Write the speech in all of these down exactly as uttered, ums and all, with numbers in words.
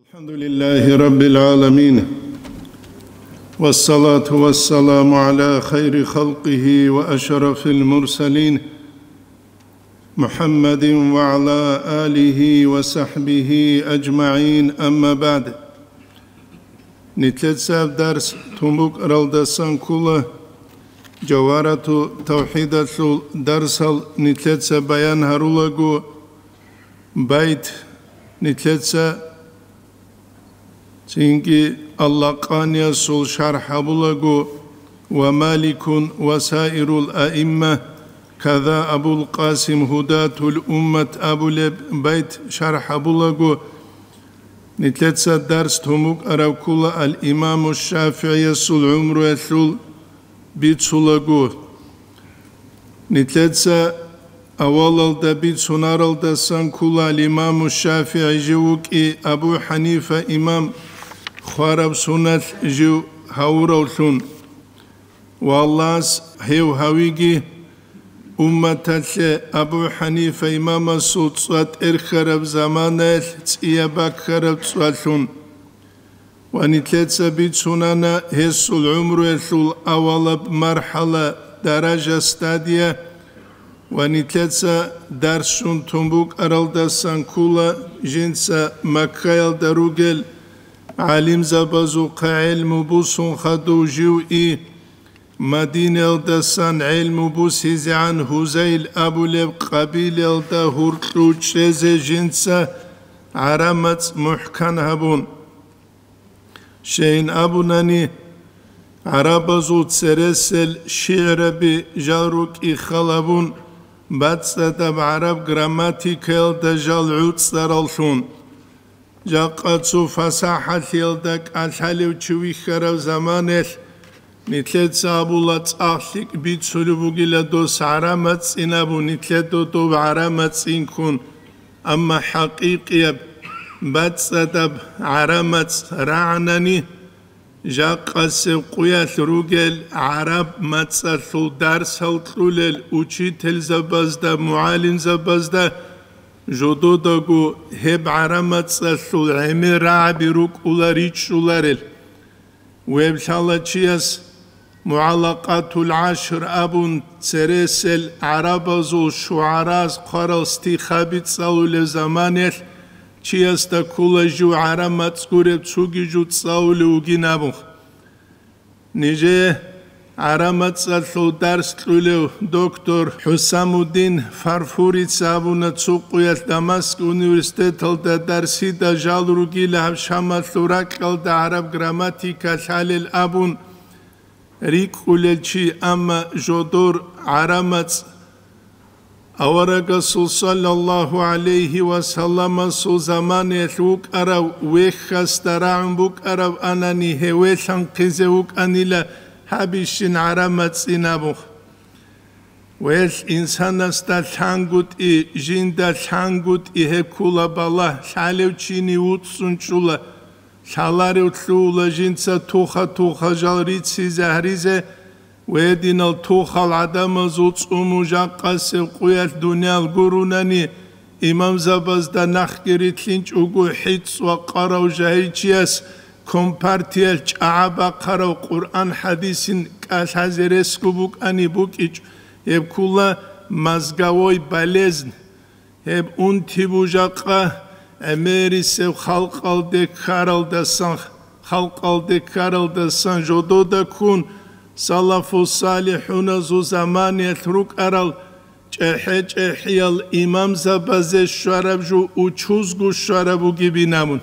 الحمد لله رب العالمين، والصلاة والسلام على خير خلقه وأشرف المرسلين، محمد وعلى آله وصحبه أجمعين، أما بعد. Нилъеца дарс тун букӀаралдасан ккола, Жавгьарату тавхӀидалъул дарсал нилъеца баян гьарулаго, байт нилъеца цинги Аллакъаниясул шархӀ гьабулаго, ва Маликун ва саирул аимма, када Абул Къасим Гьудатул Уммат абулеб байт шархӀ гьабулаго, нилъеца дарс тун букӀараб ккола ал-Имаму ШафигӀиясул гӀумруялъул бицулаго. Нилъеца авалалда бицунаралдасан ккола ал-Имаму ШафигӀи жив вукӀи Абу ХӀанифа имам хвараб суналъ жив гьавуравлъун. Ва Аллагьас гьев гьавиги, умматалъе Абу ХӀанифа имамасул цӀва тӀерхьараб заманаялъ цӀияб баккараб цӀвалъун. Ва нилъеца бицунана гьесул гӀумруялъул авалаб мархӀала, даража, стадия, ва нилъеца дарс щун тун букӀаралдасан ккола жинца Маккаялда ругел гӀалимзабазухъа гӀелму бусун хадув жив и, Мадинаялдасан гӀелму бусизегӀан Гьузайл абулеб къабилаялда гьуркьу чӀезе жинца гӀараб мацӀ мухӀкан гьабун. Щайин абунани, гӀарабазул цересел шигӀраби жал рукӀи халабун, бацӀцӀадаб гӀараб грамматикаялда жал гӀуцӀараллъун. Жакъа цо фасахӀалъиялда кӀалъалев чи вихьарав заманаялъ, нилъеца абула цӀакъ лъикӀ бицулеб бугила дос гӀараб мацӀцӀин абун, нилъер додоб гӀараб мацӀцӀинккун, амма хӀакъикъияб бацӀцӀадаб гӀараб мацӀ рагӀанани, жакъасеб къуялъ ругел гӀараб мацӀалъул дарсал кьулел учительзабазда, мугӀалимзабазда жододаго гьеб гӀараб мацӀалъул гӀемер рагӀаби рукӀула ричӀчӀуларел. Веб лъала чияс МугӀаллакъатул гӀашр абун цересел гӀарабазул шугӀараз хъварал стихаби цӀалулев заманаялъ, чиясда ккола жив гӀараб мацӀ гуреб цоги жо цӀалулев вугин абун. Нижее гӀараб мацӀалъул дарс кьулев доктор ХӀусамуддин Фарфурица абуна цо къуялъ Дамаск университеталда дарсида жал ругила гьаб Шамалъул ракьалда гӀараб грамматика лъалел абун рикӀкӀулел чи, амма жодор гӀараб мацӀ Аварагасул саллаллагьу гӀалайгьи ва салламасул заманаялъ вукӀарав вехьасда рагӀун букӀараб анани, гьевелъанхъизе вукӀанила гьабищин гӀараб мацӀцӀин абун. Велъ инсанасда лъангутӀи, жинда лъангутӀи гьеб ккула балагь, лъалев чини вуцӀцӀун чӀула, лъаларев лъугьула жинца туха-туха жал рицизе гьаризе, Гьединал тухал гӀадамазул цӀуму жакъасеб къуялъ дуниял гурунани, имамзабазда нахги рилълъинчӀого хӀицӀ ва къарав жагьилчияс компартиялъ чӀагӀа бахъарав Къуръан-хӀадисин кӀалъазе ресго букӀани букӀичӀ, гьеб ккула мозговой болезнь. Гьеб унти бужахъа гӀемерисеб халкъалде ккаралдасан, халкъалде ккаралдасан жодода ккун, салафу-салихӀуназул заманиялъ рукӀарал чӀехӀе-чӀехӀиял имамзабазе щвараб жо учузго щвараб бугебин абун.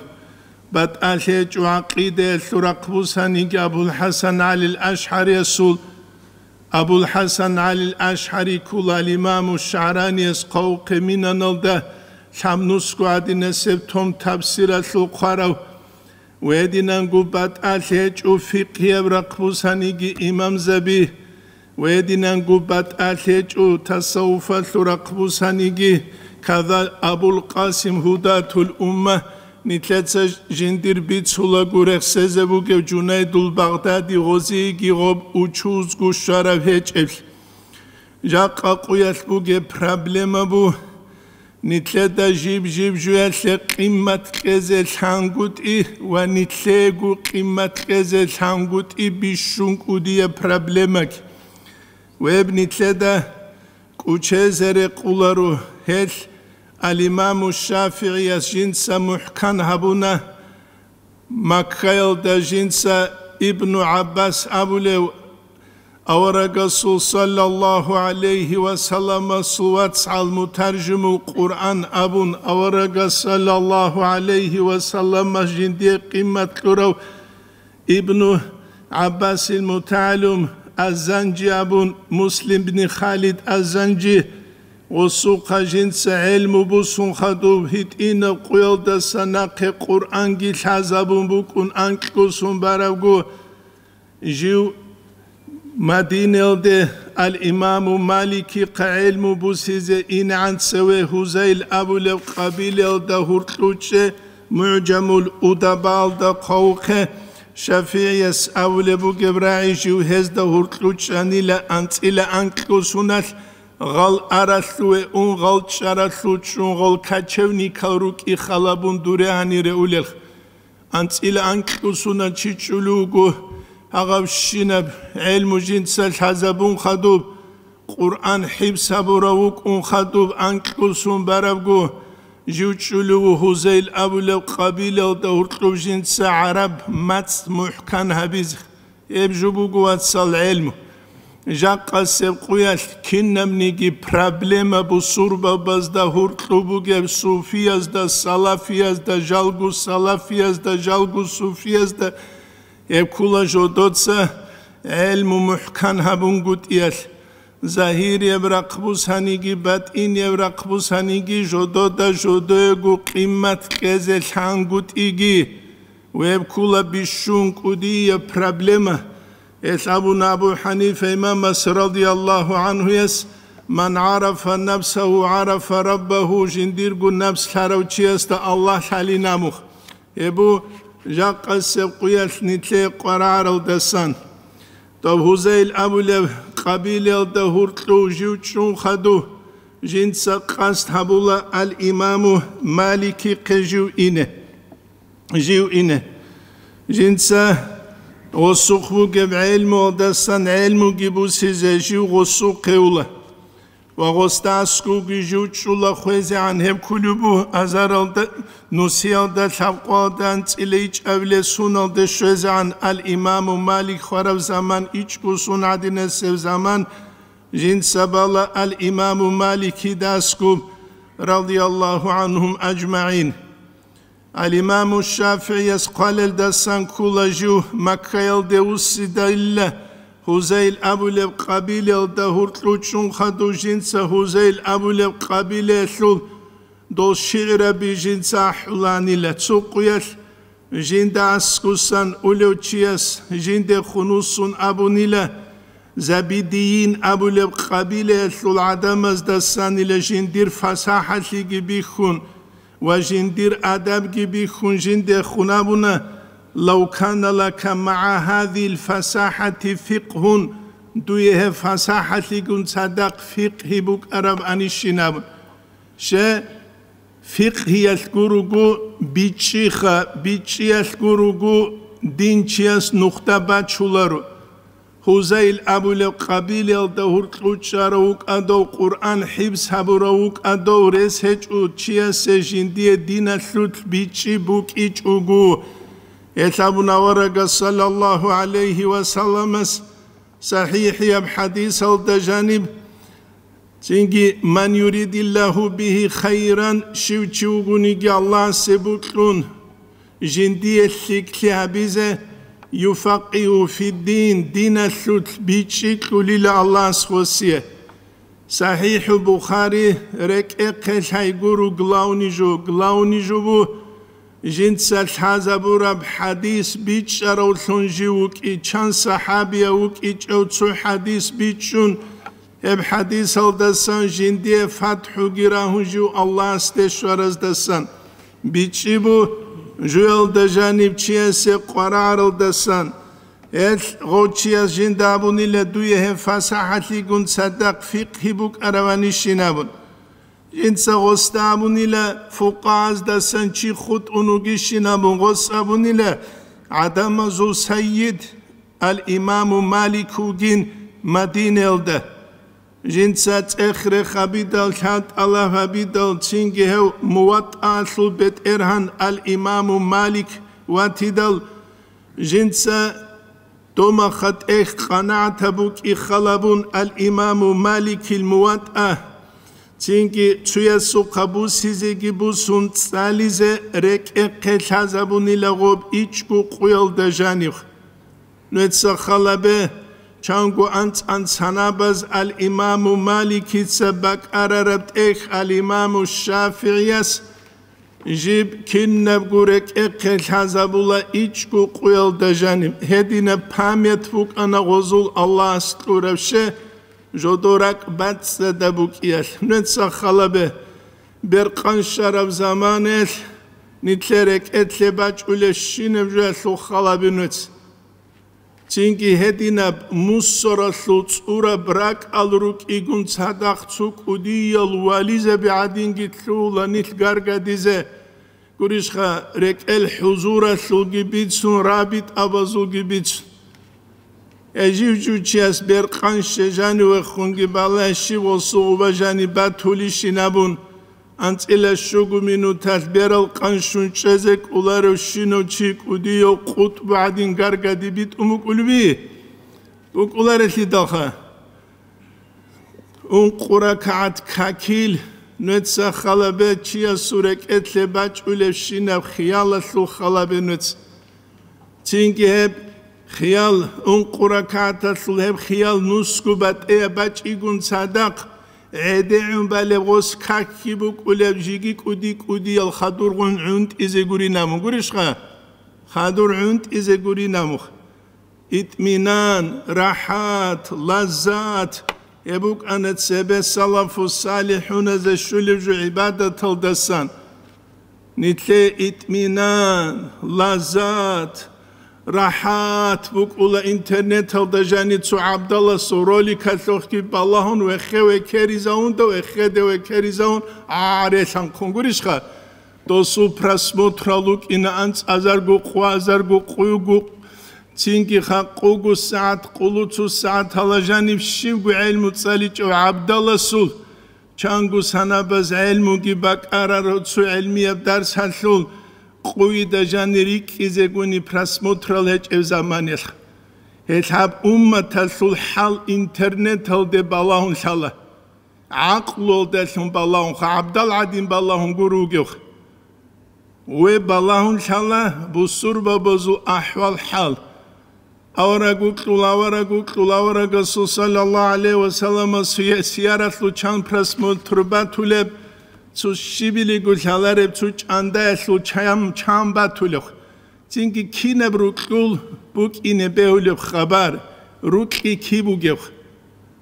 БатӀалъи гьечӀо гӀакъидаялъул рахъ бусаниги Абул-ХӀасан ГӀалил АшгӀариясул Абул-ХӀасан ГӀалил АшгӀари ккула ал-Имаму ШагӀраниялъ хъавухъе Минаналда лъабнусго гӀадинасеб том Табсиралъул хъварав, гьединанго батӀалъи гьечӀо фикъгьияб рахъ бусаниги имамзаби, гьединанго батӀалъи гьечӀо тасаввуфалъул рахъ бусаниги, када Абул-Къасим Гьудатул Умма, Нилъеца жиндир бицулаго рехсезе бугев Жунайдул Багъдади гъозиеги гъоб учузго щвараб гьечӀеблъи. Жакъа къуялъ бугеб проблема бу, Нилъеда жиб-жиб жуялъе къиммат кьезе лъангутӀи ва нилъего къиммат кьезе лъангутӀи бищун кӀудияб проблемаги. Веб нилъеда кӀучезе рекъуларо гьелъ, ал-Имаму ШафигӀияс жинца мухӀкан гьабуна, Маккаялда жинца Ибну ГӀаббас абулев, аварагасул саллаллагьу гӀалайгьи ва салламасул вацгӀал мутаржимул Къуръан абун, аварагас саллаллагьу гӀалайгьи ва салламас жиндие къиммат кьурав Ибну ГӀаббасил мутагӀалим Аззанжи абун, Муслим бни Халид Аззанжи, гъосухъа жинца гӀелму бусун хадуб, гьитӀинаб къуялдаса нахъе Къуръанги лъазабун букӀун анкьго сун барабго, жив Мадинаялде ал-Имаму Маликихъа гӀелму бусизе инегӀан цеве Гьузайл абулеб къабилаялда гьуркьучӀе, МугӀжамул Удабаалда хъвавухъе, ШафигӀияс абулеб бугеб рагӀи жив гьезда гьуркьучӀанила анцӀила анкьго суналъ, гъал аралъуве ун, гъал чӀаралъул чӀун, гъал кочевникал рукӀи халабун дуре гьанире улелх. АнцӀила анкьго суна чи чӀулев вуго, гьагъабщинаб гӀелму жинца лъазабун хадуб, Къуръан хӀибс гьабурав вукӀун хадуб анкьго сун барабго, жив чӀулев ву Гьузайл абулеб къабилаялда гьуркьуб жинца гӀараб мацӀ мухӀкан гьабизе. Гьеб жо буго, вацал, гӀелму. Жакъасеб къуялъ кинабниги проблема бусурбабазда гьуркьу бугеб, суфиязда, салафиязда, жалгу салафиязда, жалгу суфиязда, гьеб ккула жодоца гӀелму мухӀкан гьабунгутӀиялъ. Загьирияб рахъ бусаниги, батӀинияб рахъ бусаниги, жодода жодоего къиммат кьезе лъангутӀиги. Веб ккула бищун кӀудияб проблема. Гьелъ абуна Абу ХӀанифа имамас радияллагьу гӀанхуяс: «Ман гӀарафа нафсагьу, гӀарафа раббагьу», жиндирго напс лъарав чиясда Аллагь лъалин абун. Гьеб бу жакъасеб къуялъ нилъее къварагӀаралдасан. Дов Гьузайл абулеб къабилаялда гьуркьув жив чӀун хадув, жинца къасд гьабула ал-Имаму Маликихъе жив ине. Жив ине. Жинца гъосухъ бугеб гӀелмуялдасан гӀелмуги бусизе жив гъосухъе ула. Ва гъосда аскӀовги жив чӀула хвезегӀан гьеб кколеб буго азаралда, нусиялда, лъабкъоялда анцӀила ичӀабилеб суналде щвезегӀан ал-Имаму Малик хвараб заман ичӀго сун гӀадинасеб заман, жинца бала ал-Имаму Маликида аскӀоб, радияллагьу гӀанхум ажмагӀин. Ал-Имаму ШафигӀияс хъвалелдасан ккула жив Маккаялде вуссидайилла, Гьузайл абулеб къабилаялда гьуркьув чӀун хадув жинца Гьузайл абулеб къабилаялъул дол шигӀраби жинца ахӀуланила. Цо къуялъ жинда аскӀусан улев чияс жиндехун вуссун абунила, Забидийин абулеб къабилаялъул гӀадамаздасанила жиндир фасахӀалъиги бихьун, ва жиндир адабги бихьун жиндехун абуна: «Лав кана лака магӀа гьазил фасахӀати фикъгьун», дуе гьеб фасахӀалъигун цадахъ фикъгьи букӀараб анищин абун. Ще, фикъгьиялъ гуруго бичӀчӀиха, бичӀчӀиялъ гуруго дин чияс нухда бачуларо. Гьузайл абулеб къабилаялда гьуркьучӀарав вукӀадав, Къуръан хӀибс гьабурав вукӀадав, рес гьечӀо чиясе жиндие диналъулъ бичӀчӀи букӀичӀого. Гьелъ абун аварагас саллаллагьу гӀалайгьи ва салламас сахӀихӀияб хӀадисалда жаниб, цинги: «Ман юридиллагьу бигьи хайран», щив чи вугониги Аллагьасе бокьун, жиндие лъикӀлъи гьабизе, «юфакъигьу фиддин», диналъулъ бичӀчӀи кьулила Аллагьас гъосие. СахӀихӀу Бухари рекӀехъе лъай гуро главный жо, главный жо бу, жинца лъазабураб хӀадис бичӀчӀаравлъун жив вукӀи, чан сахӀабияв вукӀичӀев цо хӀадис бичӀчӀун, гьеб хӀадисалдасан жиндие фатхӀуги рагьун жив Аллагьасде щвараздасан. БичӀчӀи бу жуялда жаниб чиясе къварагӀаралдасан. Гьелъ гъов чияс жинда абунила дуе гьеб фасахӀалъигун цадахъ фикъгьи букӀараванищин абун. Жинца гъосда абунила, фукъагьаздасан чи хутӀун вугищин абун гъос абунила, гӀадамазул сайид ал-Имаму Малик вугин Мадинаялда. Жинца цӀех-рех гьабидал, лъан-тӀалаб гьабидал, цинги гьев МуватӀаалъул бетӀергьан ал-Имаму Малик ватидал, жинца домаха тӀехь къанагӀат букӀин халабун ал-Имаму Маликил МуватӀа, цинги цуясухъа бусизеги бусун цӀализе рекӀехъе лъазабунила гъоб ичӀго къуялда жанив. Нуца халабе, чанго анцӀан санабаз ал-Имаму Маликица бакӀарараб тӀехь ал-Имаму ШафигӀияс жиб кинабго рекӀехъе лъазабула ичӀго къуялда жаниб. Гьединаб память букӀана гъозул Аллагьас кьураб ше, жодор ракӀ бацӀцӀадаб букӀиялъ. Нуца халабе, беркъан щараб заманаялъ нилъер рекӀелъе бачӀулебщинаб жоялъул халабе нуц. Цинги гьединаб мусоралъул цӀураб ракӀал рукӀигун цадахъ цо кӀудиял вализаби гӀадинги лъугьула нилъ гаргадизе, гурищха, рекӀел хӀузуралъулги бицун, рабитӀабазулги бицун. Гьей жив-жив чияс беркъан щвезани вехунги балай щиб гъосул гъуба жаниб батулищин абун, анцӀила щуго минуталъ берал къан щун чӀезе кӀоларев щинав чи кӀудияв къутӀбу гӀадин гаргади битӀун букӀулеби? БукӀуларелъидалха. Ункъо ракагӀат какил нуца халабе чиясул рекӀелъе бачӀулебщинаб хиялалъул халабе нуц. Цинги гьеб хиял, ункъо ракагӀаталъул гьеб хиял нусго батӀияб бачӀигун цадахъ, гӀедегӀун балеб гъос какги букӀулеб жиги кӀуди-кӀудиял хадургъун гӀунтӀизе гурин абун гурищха? Хадур гӀунтӀизе гурин абун. ИтӀминан, рахӀат, лаззат, гьеб букӀана цебе салафу салихӀуназе щулеб жо гӀибадаталдасан. Нилъее итӀминан, лаззат, рахӀат букӀула интернеталда жаниб цо гӀабдаласул роликалъухъги балагьун вехе-векеризавунда, вехеде векеризавун гӀарелъанхъун гурищха? Досул просмотрал рукӀина анцӀазарго, къвазарго, къуйго, цинги хакъуго сагӀат, къулу цо сагӀатала жаниб щибго гӀелму цӀаличӀев гӀабдаласул. Чанго санабаз гӀелмуги бакӀарар цо гӀелмияб дарсалъул къуйда жани рикӀкӀизегуни просмотрал гьечӀеб заманалъ. Гьелъ гьаб умматалъул хӀал интернеталде балагьун лъала. ГӀакълуялдалъун балагьунха, гӀабдал гӀадин балагьун гуро вугевха. Ве балагьун лъала бусурбабазул ахӀвал-хӀал. Авараг вукьул, авараг вукьул, аварагасул саллаллагьу гӀалайгьи ва саллама суе-, сияралъул чан просмотр батулеб, цо щибилиго лъалареб, цо чӀандаялъул чам, чан батулеб. Цинги кинаб рукьул букӀине бегьулеб хабар, рукьи киб бугеб?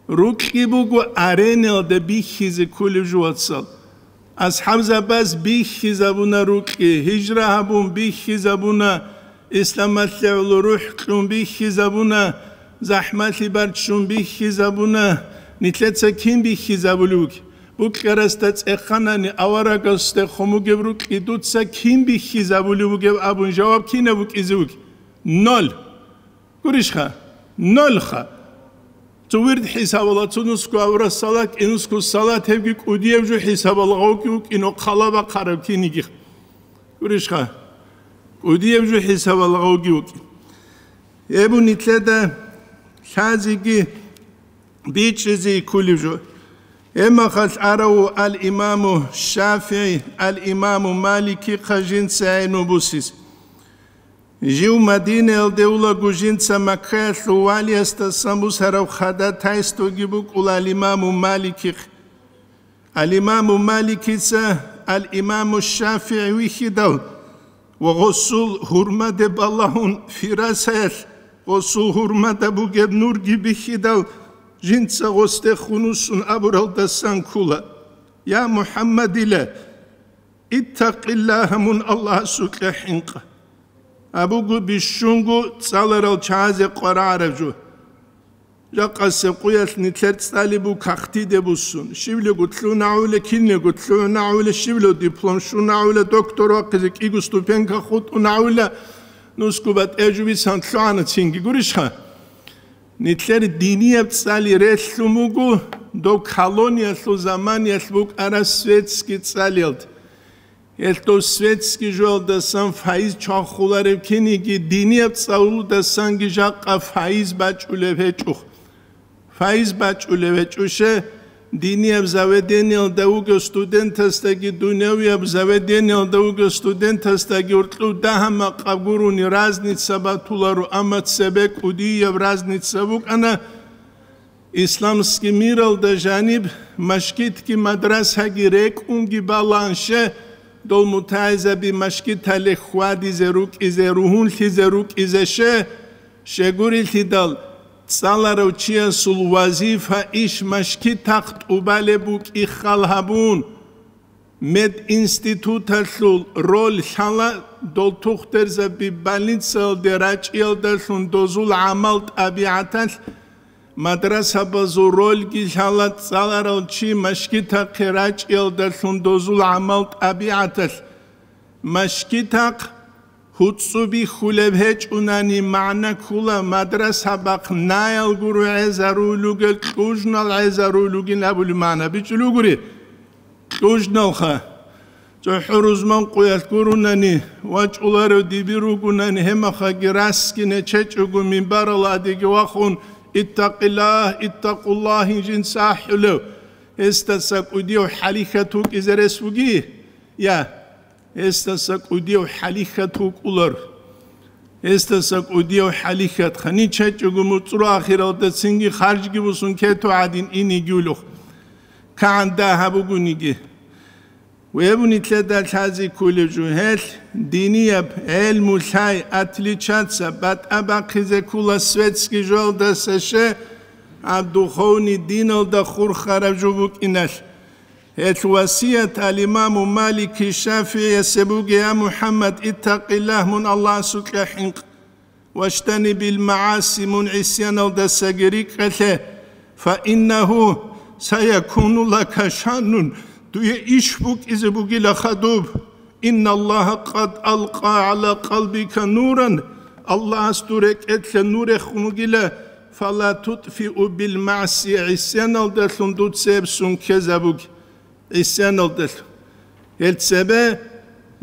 Рукьи буго ареналда бихьизе кколеб жо, вацал. АсхӀабзабаз бихьизабуна рукьи, гьижра гьабун бихьизабуна, исламалъе гӀоло рухӀ кьун бихьизабуна, захӀмалъи барччун бихьизабуна. Нилъеца кин бихьизабулев вугеб? Букьарасда цӀеханани аварагасде хъумугеб рукьи дуца кин бихьизабулев вугеб абун жаваб кинаб букӀизе вугеб? Ноль. Гурищха? Нольха. Цо вирд хӀисабала, цо нусго авра салат, кӀинусго салат, гьебги кӀудияб жо хӀисабала гъавги вукӀино, хъала бахъараб киниги. Гурищха? КӀудияб жо хӀисабала гъавги вукӀин. Гьеб нилъеда лъазеги бичӀчӀизе кколеб жо. Гьебмахалъ арав ал-Имаму ШафигӀи, ал-Имаму Маликихъа жинца гӀелму бусизе. Жив Мадинаялде улаго жинца Маккаялъул валиясдасан бусараб хадатайсдоги букӀула ал-Имаму Маликихъ. Ал-Имаму Маликица ал-Имаму ШафигӀи вихьидал ва гъосул гьурмаде балагьун фирасаялъ гъосул гьурмада бугеб нурги бихьидал, жинца гъосде хунусун абуралдасан ккула: «Я МухӀаммадила, иттакъиллагьа, мун Аллагьасукьа хӀинкъа», абуго бищунго цӀаларал чагӀазе къварагӀараб жо. Жакъасеб къуялъ нилъер цӀали буго кагътиде буссун. Щивлего лъугӀун гӀавула, кинлего лъугӀун гӀавула, щивлего диплом щун гӀавула, доктор вахъизе кӀиго ступенька хутӀун гӀавула, нусго батӀияб жо бицан лъугӀана цинги, гурищха? Нилъер динияб цӀали релълъун буго доб колониялъул заманиялъ букӀараб светский цӀалиялда. Гьелъ дов светский жоялдасан файз чвахуларев киниги, динияб цӀалулдасанги жакъа файз бачӀулеб гьечӀо. Файз бачӀулеб гьечӀоше, динияб заведениялда вугев студентасдаги, дунявияб заведениялда вугев студентасдаги уркьув дагьа-макъаб гурони разница батуларо, амма цебе кӀудияб разница букӀана, исламский миралда жаниб машгитги мадрасаги рекӀунги баланше, дол мутагӀилзаби машгиталде хьвадизе рукӀизе, ругьунлъизе рукӀизеше, щегурелъидал цӀаларав чиясул вазифа иш машгитахъ тӀубалеб букӀин хал гьабун, мединституталъул роль лъала дол тухтурзаби больницаялде рачӀиялдалъун дозул гӀамал-тӀабигӀаталъ, мадрасабазул рольги лъала цӀаларав чи машгитахъе рачӀиялдалъун дозул гӀамал-тӀабигӀаталъ. Машгитахъ гьуцӀцӀу бихьулеб гьечӀунани, магӀна ккола, мадрасабахъ наял гуро гӀезарулугел, кьужнал гӀезарулугин абулеб магӀна бичӀчӀулугури. Кьужналха. ЦохӀо рузман къуялъ гурунани, вачӀуларев диби ругунани, гьемахаги расги нечечӀого минбаралдеги вахун, «Иттакъиллагь, иттакъуллагь», жинца ахӀулев, гьесдаса кӀудияв хӀалихьат вукӀизе рес вуги? Я, гьесдаса кӀудияв хӀалихьат вукӀулар. Гьесдаса кӀудияв хӀалихьат ханичачӀого муцӀру ахиралда цинги харжги бусун кету гӀадин инигюлух. КагӀан дагьаб бугониги. Веб нилъеда лъази кколеб жо гьелъ, динияб гӀелму лъай, отличаться, батӀа бахъизе ккола светский жоялдаса ше, а духовный диналда хурхараб жо букӀиналъ. Гьелъ васият ал-имаму Малики ШафигӀиясе буго: «Я МухӀаммад, иттакъиллагь, мун Аллагьасукьа хӀинкъ, ваштани бил магӀаси, мун гӀисяналдасаги рикӀкӀалъе, фа иннагьу саякуну лака шаннун, дуе иш букӀизе бугила хадуб». «Инналлагьа къад алкъа гӀала къалбика нуран», Аллагьас дур рекӀелъа нур рехун вугила, «фала тутфиу бил магӀси», гӀисяналдалъун дуца гьеб сун ккезабуге, гӀисяналдалъун. Гьел цебе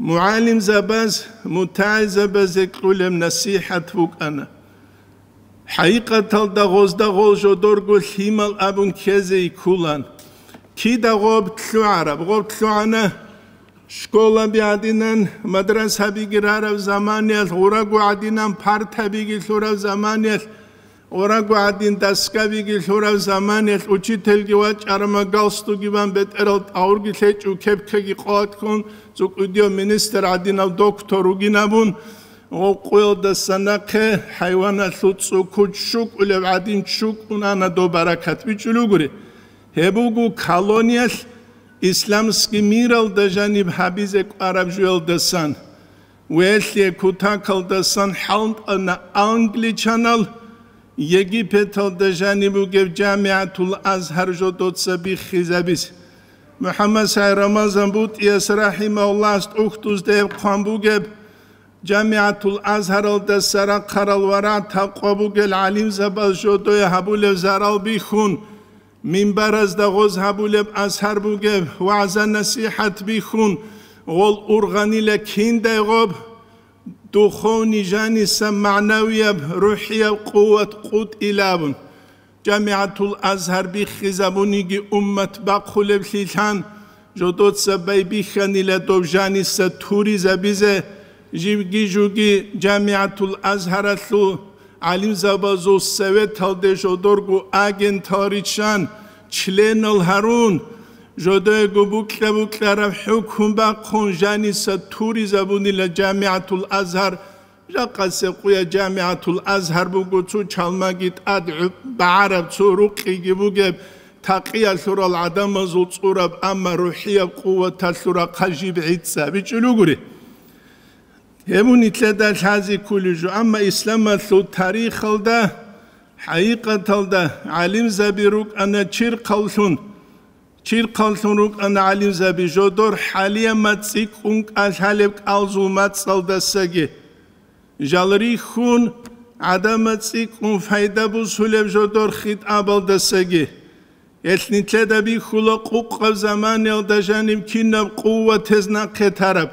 мугӀалимзабаз, мутагӀилзабазе кьолеб насихӀат букӀана. ХӀакъикъаталда гъозда гъол жодорго лъимал абун ккезе йиккулан. Кида гъоб лъугӀараб? Гъоб лъугӀана школаби гӀадинан, мадрасабиги рараб заманиялъ, гъураго гӀадинан партабиги лъураб заманиялъ, гъураго гӀадин доскабиги лъураб заманиялъ, учительги вачӀарама галстуги бан бетӀерал тӀагӀурги лъечӀев кепкаги къватӀлъун, цӀукӀудияв министр гӀадинав доктор вугин абун, Гъоб къуялдаса нахъе хӀайваналъул цӀукуд щукӀулеб гӀадин чукӀун ана доб баракат бичӀчӀулугури. Гьеб буго колониялъ исламский миралда жаниб гьабизе кӀвараб жуялдасан. Велъе кутакалдасан хӀалтӀана англичанал Египеталда жаниб бугеб ЖамигӀатул Азгьар жодоца биххизабизе. МухӀаммад СагӀид Рамазан БутӀияс рахӀимагьуллагьас тӀухьдузда гьеб хъван бугеб, ЖамигӀатул Азгьаралдаса рахъарал ва рагӀ-такъва бугел гӀалимзабаз жодое гьабулеб зарал бихьун, минбаразда гъоз гьабулеб азгьар бугеб, вагӀза-насихӀат бихьун, гъол ургъанила киндай гъоб духовный жаниса магӀнавияб, рухӀияб къуват къутӀила абун. ЖамигӀатул Азгьар биххизабуниги уммат бахъулеблъилъан, жодоца байбихьанила доб жаниса туризабизе, живги-жуги ЖамигӀатул Азгьаралъул гӀалимзабазул советалде жодорго агентал риччан, членал гьарун, жодоего букьа-букьараб хӀукму бахъун жаниса туризабунила ЖамигӀатул Азгьар. Жакъасеб къуя ЖамигӀатул Азгьар буго цо чалмаги тӀад гӀу-, багӀараб, цо рукъиги бугеб, такъиялъурал гӀадамазул цӀураб, амма рухӀияб къуваталъул рахъа жиб гӀицӀцӀа бичӀчӀулугури. Гьеб нилъеда лъази кколеб жо, амма исламалъул тарихалда ХӀакъикъаталда гӀалимзаби рукӀана чирхъавлъун, чирхъавлъун рукӀана гӀалимзаби жодор хӀалиямат цӀикӀкӀун кӀалъалеб кӀалзул мацӀалдасаги. Жал рихьун, гӀадамат цӀикӀкӀун пайда бусулеб жодор хитӀабалдасаги. Гьелъ нилъеда бихьула къукъаб заманиялда жаниб кинаб къуватез нахъе тараб.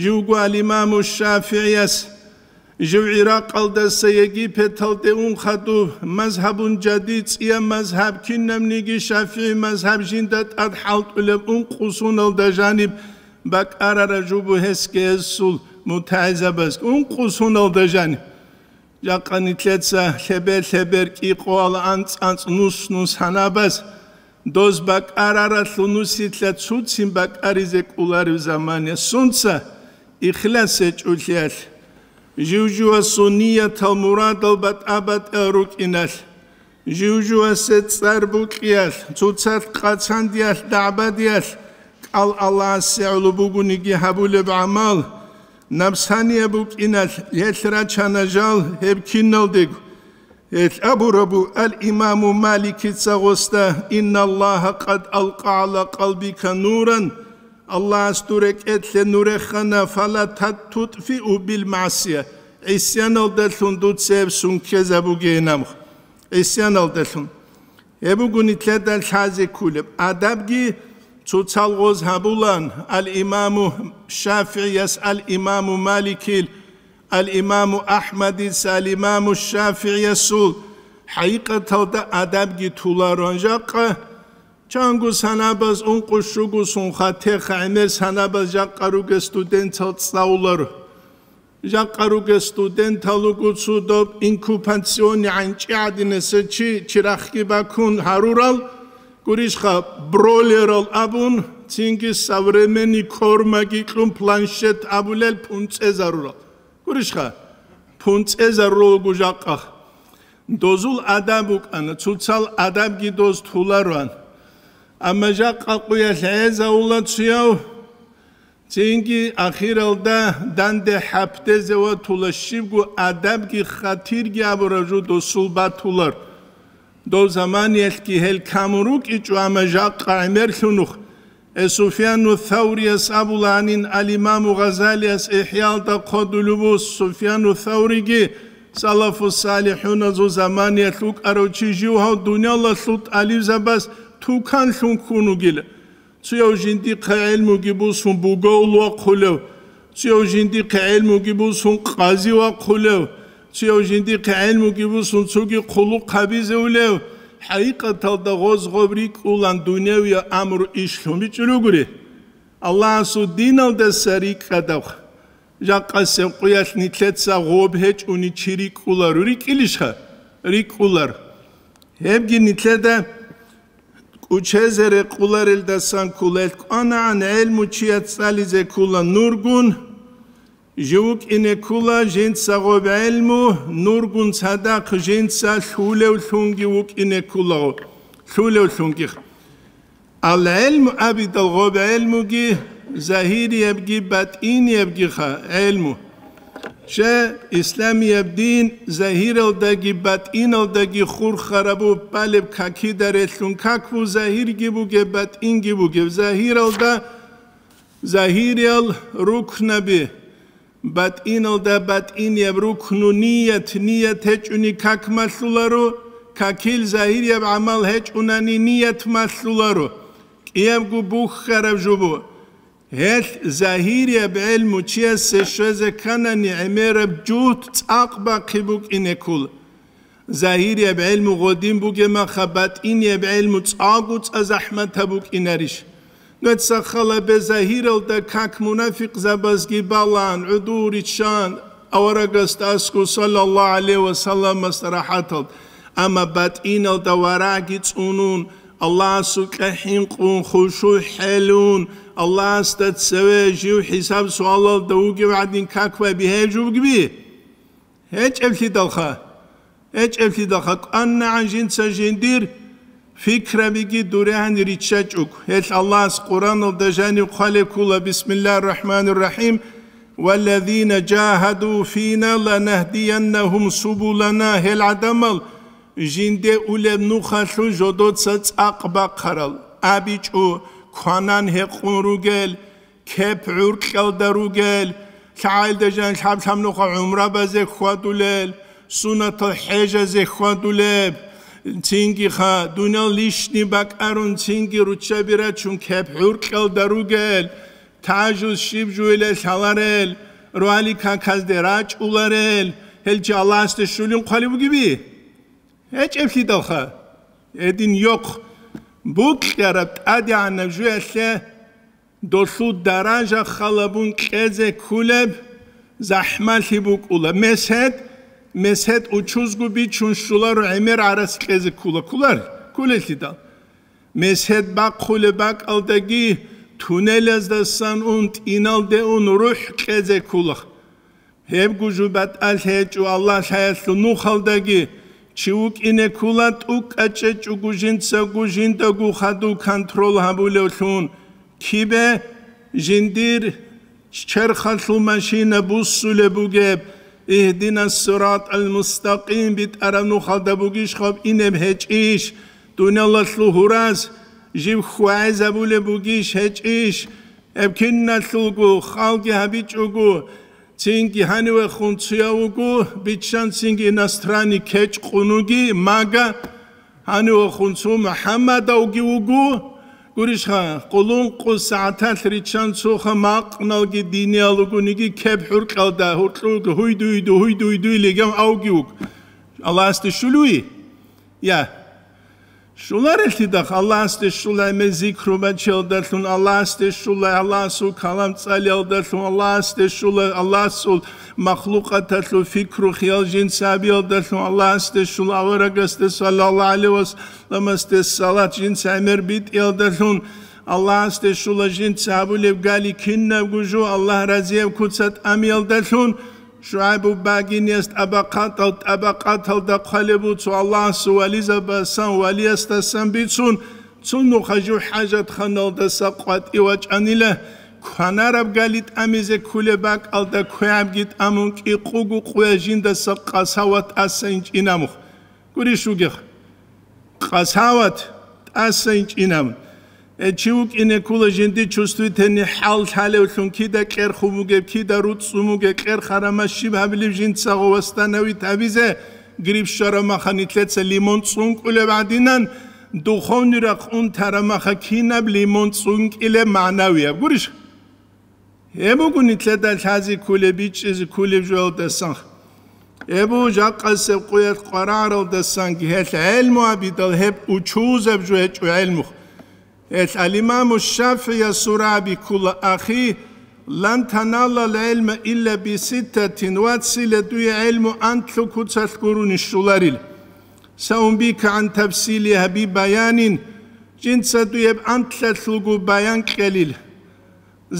Живго ал-Имаму ШафигӀияс, жив ГӀиракъалдаса Египеталде ун хадуб, мазгьабун жади цӀияб мазгьаб, кинабниги ШафигӀи мазгьаб жинда тӀад хӀалтӀулеб ункъо соналда жаниб бакӀарараб жубу гьесги гьесул мутагӀилзабазги. Ункъо соналда жаниб. Жакъа нилъеца лъебе-лъебер кӀикъоялда анцӀ-анцӀ нус-нус гьанабаз, доз бакӀараралъул нусилъа цуцин бакӀаризе кӀоларев замане сунца ихлас гьечӀолъиялъ, жив-живасул ниятал мурадал батӀа-батӀа рукӀиналъ, жив-живасе цӀар букьиялъ, цоцалъ къацандиялъ, дагӀбадиялъ, кӀал Аллагьасе гӀоло бугониги гьабулеб гӀамал, напсанияб букӀиналъ гьелъ рачана жал гьеб киналдего. Гьелъ абурабу ал-Имаму Маликица гъосда: «Инналлагьа къад алкъа гӀала къалбика нуран», Аллагьас дур рекӀелъе нур рехана, «фала тат-, тутфиу бил магӀсия», гӀисяналдалъун дуца гьеб сункезабугейин аб-, гӀисяналдалъун. Гьеб буго нилъеда лъазе кколеб. Адабги цоцал гъоз гьабулан, ал-Имаму ШафигӀияс, ал-Имаму Маликил, ал-Имаму АхӀмадица, ал-Имаму ШафигӀиясул хӀакъикъаталда адабги толароан жакъа. Чанго санабаз ункъо-щуго сунха теха гӀемер санабаз жакъа ругел студентал цӀалуларо. Жакъа ругел студентал руго цо доб инкубационный гӀанчӀи гӀадинаса чи чирахги бакун гьарурал, гурищха, бролерал абун, цинги современный кормаги кьун планшет абулел пунцӀезарурал. Гурищха, пунцӀезарурал руго жакъа. Дозул адаб букӀана, цоцал адабги доз толароан. Амма жакъа къуялъ гӀезавула цуяв, цинги ахиралда данде хӀапдезе ватула щибго адабги хатирги абураб жо досул батулар. Дов заманиялъги гьел камун рукӀичӀо, амма жакъа гӀемерлъунухъ. Э, Суфьяну Саврияс абуланин, ал-Имаму Гъазалияс ИхӀялда хъодулеб бус, Суфьяну Савриги салафу салихӀуназул заманиялъ вукӀарав чи жив гьав дуниялалъул тӀалибзабаз туканлъун ккун вугила. Цуяв жиндихъе гӀелмуги бусун бугов вахъулев, цуяв жиндихъе гӀелмуги бусун къази вахъулев, цуяв жиндихъе гӀелмуги бусун цоги хъулухъ гьабизевулев, хӀакъикъаталда гъоз-гъоб рикӀкӀулан дуневияб амру иш лъун бичӀчӀулев гури. Аллагьасул диналдаса рикӀкӀадаб. Жакъасеб къуялъ нилъеца гъоб гьечӀони чи рикӀкӀуларо, рикӀкӀилищха? РикӀкӀулар. Гьебги нилъеда кӀучезе рекъуларелдасан ккола. КӀванагӀан гӀелму чияс цӀализе ккола нургун, жив вукӀине ккола жинца гъоб гӀелму, нургун цадахъ жинца лъулевлъунги вукӀине ккола, лъулевлъунги. Ал-гӀелму абидал гъоб гӀелмуги, загьириябги батӀиниябгиха гӀелму. Щай, исламияб дин загьиралдаги батӀиналдаги хурхараб бугеб, балеб какида релълъун как бугеб, загьирги бугеб, батӀинги бугеб. Загьиралда загьириял рукнаби, батӀиналда батӀинияб рукну ният, ният гьечӀони как малъуларо, какил загьирияб гӀамал гьечӀунани ният малъуларо. КӀиябго бухьараб жо буго. Гьелъ загьирияб гӀелму чиясе щвезе кканани гӀемераб жугьд цӀакъ бахъи букӀине ккола. Загьирияб гӀелму гъодин бугеб маха, батӀинияб гӀелму цӀакъго цӀа захӀматаб букӀинарищ? Нуца халабе загьиралда как мунафикъзабазги балан, гӀодов риччан, аварагасда аскӀов саллаллагьу гӀалайгьи ва салламасда рахӀатал, амма батӀиналда варагьги цӀунун, Аллагьасукьа хӀинкъун, хушугӀ хӀелун, Аллагьасда цеве жив хӀисаб-суалалда вугев гӀадин как бай бигьаяб жо бугеби? ГьечӀеблъидалха, гьечӀеблъидалха кӀванагӀан жинца жиндир пикрабиги дурегьан риччачӀого. Гьелъ Аллагьас Къуръаналда жанив хъвалеб ккола: «Бисмиллагьир рахӀманир рахӀим. Валлазина жагьаду фина ланагьдияннагьум субулана». Гьел гӀадамал Жинде улеб нухалъул жодоца цӀакъ бахъарал, абичӀо, кванан гьекъун ругел, кеп гӀуркьалда ругел, лъагӀалда жан лъаб-лъаб нуха гӀумрабазе хьвадулел, сунатал хӀежазе хьвадулеб, цинги ха, дуниял лишни бакӀарун, цинги руччаби рачун кеп гӀуркьалда ругел, тажу щиб жугьила лъаларел, ругьали каказде рачӀуларел, гьел чи Аллагьасде щулин хъвалеб бугеби? ГьечӀеблъидалха, гьедин йохъ букьараб тӀадегӀанаб жуялъе долъул даража халабун кьезе ккулеб захӀмалъи букӀула. Месед, месед учузго бичун щуларо гӀемер гӀарац кьезе ккула. Ккулар? Ккулелъидал. Месед бахъулеб бакӀалдаги тунелаздасан ун, тӀиналде ун рухӀ кьезе ккула. Гьебго жо батӀалъи гьечӀо Аллагь лъаялъул нухалдаги, чи вукӀине ккула тӀукӀа чӀечӀого жинцаго жиндаго хадув контрол гьабулевлъун. Кибе? Жиндир черхалъул машина буссулеб бугеб, «Игьдинас сиратал мустакъим» битӀараб нухалда бугищ хаб инеб гьечӀищ, дуниялалъул гьураз жив хьвагӀизабулеб бугищ гьечӀищ, гьеб киналъулго халги гьабичӀого, цинги гьанивехун цуяв вуго, биччан цинги иностранный кечӀ къунуги, мага, гьанивехун цо МухӀаммадавги вуго, гурищха, къулункъу сагӀаталъ риччан цоха макъналги диниял ругониги кеп гӀуркьалда гьуркьуги гьуй-дуй-ду, гьуй-дуй-дуй легав авги вуг. Аллагьасде щулуй? Я. Щуларелъидахъ Аллагьасде щула гӀемер зикру бачиялдалъун, Аллагьасде щула Аллагьасул калам цӀалиялдалъун, Аллагьасде щула Аллагьасул махлукъаталъул фикру-хиял жинца гьабиялдалъун, Аллагьасде щула аварагасде саллаллагьу гӀалайгьи ва салламасде салат жинца гӀемер битӀиялдалъун, Аллагьасде щула жинца гьабулеб гали кинабго жо Аллагь разияб куца тӀамиялдалъун, ШугӀайбу багиниялъ тӀабакъатал-, тӀабакъаталда хъвалеб буцу Аллагьасул вализабасан, валиясдасан бицун, цун нуха жив хӀажатханалдаса къватӀи вачӀанила, кванараб гали тӀамизе ккулеб бакӀалда квегӀабги тӀамун кӀикъугу къуя жиндаса къасават тӀаса инчӀинамухъ. Гурищ вугехъ. Къасават тӀаса инчӀинаб. Э, чи вукӀине ккула жинди чувствительный хӀал лъалевлъун, кида кьерхун вугеб, кида руцӀцӀун вугеб, кьерхарама щиб гьабилеб жинцаго восстановить гьабизе, грипп щварамаха нилъеца лимон цӀункӀулеб гӀадинан, духовный рахъ унтарамаха кинаб лимон цӀункӀилеб магӀнавияб. Гурищ? Гьеб буго нилъеда лъази ккулеб, бичӀчӀизе ккулеб жоялдасан. Гьеб буго жакъасеб къуялъ къварагӀаралдасанги гьелъ гӀелму абидал гьеб учузаб жо гьечӀо гӀелмухъ. Гьелъ ал-Имаму ШафигӀиясул рагӀаби ккула, ахи, лан таналал гӀелма илла биситтатин, вацила дуе гӀелму анлъго куцалъ гурони щоларил. Саунбика гӀан тафсили гьаби баянин, жинца дуе гьеб анлъалъулго баян кьелил.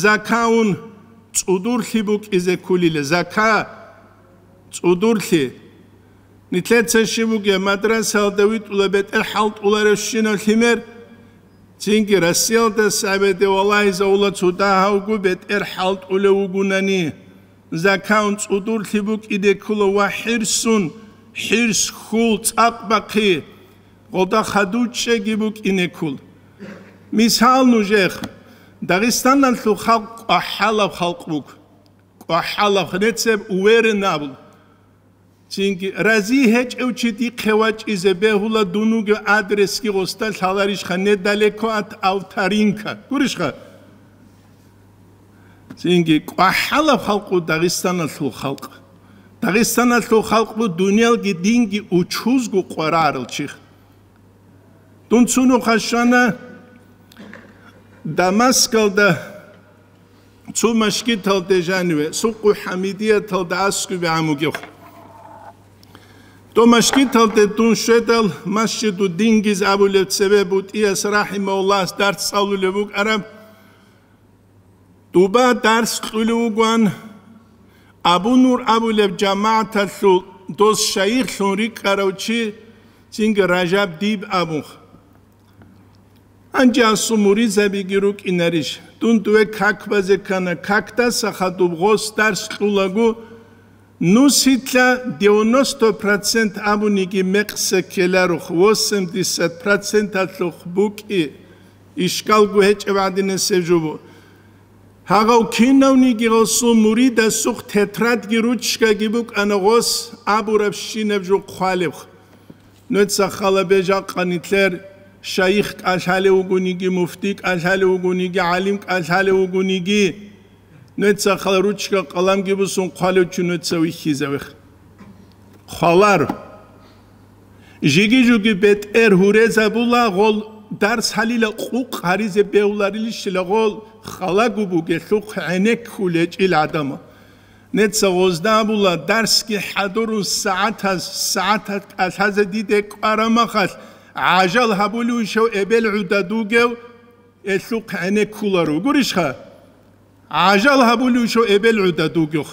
Закаун цӀудурлъи букӀизе ккулила, зака цӀудурлъи. Нилъеца щиб бугеб, мадрасаялда витӀула бетӀер хӀалтӀуларев щинав лъимер, цинги Россиялда сабеде валагьизавула цо дагьавго бетӀер хӀалтӀулев вугунани. Закаун цӀудурлъи букӀине ккула ва хӀирсун, хӀирс, хьул, цӀакъ бахъи, гъода хадуччеги букӀине ккул. Мисал, нужехъ, Дагъистаналъул халкъ кӀвахӀалаб халкъ буго. КӀвахӀалаб, нецеб уверен абун. Цинги, рази гьечӀев чи дихъе вачӀизе бегьула, дун вугев адресги гъосда лъаларищха, недалеко от авторинка. Гурищха? Цинги, кӀвахӀалаб халкъ бу Дагъистаналъул халкъ. Дагъистаналъул халкъ бу дуниялги динги учузго къварарал чи. Дун цунухъа щвана Дамаскалда цо машгиталде жаниве, Сукъу ХӀамидияталда аскӀубе гӀамугев. Дов машгиталде дун щведал, Масжиду Дингиз абулев цеве БутӀияс рахӀимагьуллагьас дарс цӀалулев вукӀараб. Дуба дарс кьулев вугоан, Абу Нур абулеб жамагӀаталъул дос шайихлъун рикӀкӀарав чи, цинги Ражаб диб абун. Гьанже асул муридзабиги рукӀинарищ? Дун дуве как базе ккана, какдаса хадуб гъос дарс кьулаго, Нусилъа девяносто процент абуниги мекъса ккеларо, восемьдесят проценталъухъ букӀи ишкалго гьечӀеб гӀадинасеб жо бу. Гьагъав кинавниги гъосул муридасухъ тетрадги ручкаги букӀана гъос абурабщинаб жо хъвалеб. Нуца хала бежа къанилъер шайих кӀалъалев вугониги, муфти кӀалъалев вугониги, гӀалим кӀалъалев вугониги, нуца хала ручка-къаламги бусун хъвалев чи нуца вихьизавех. Хъвалар. Жиги-жуги бетӀер гьурезабула гъол дарс гьалила къукъ гьаризе бегьуларилищила гъол халагу бугелъухъ гӀенеккулечӀил гӀадамал. Неца гъозда абула, дарсги хӀадурун сагӀатаз, сагӀатат кӀалъазе диде кӀварамахалъ, гӀажал гьабулев ишав эбел гӀуда дугев элъухъ гӀенеккуларо. Гурищха? ГӀажал гьабулев ишав эбел гӀуда дугев.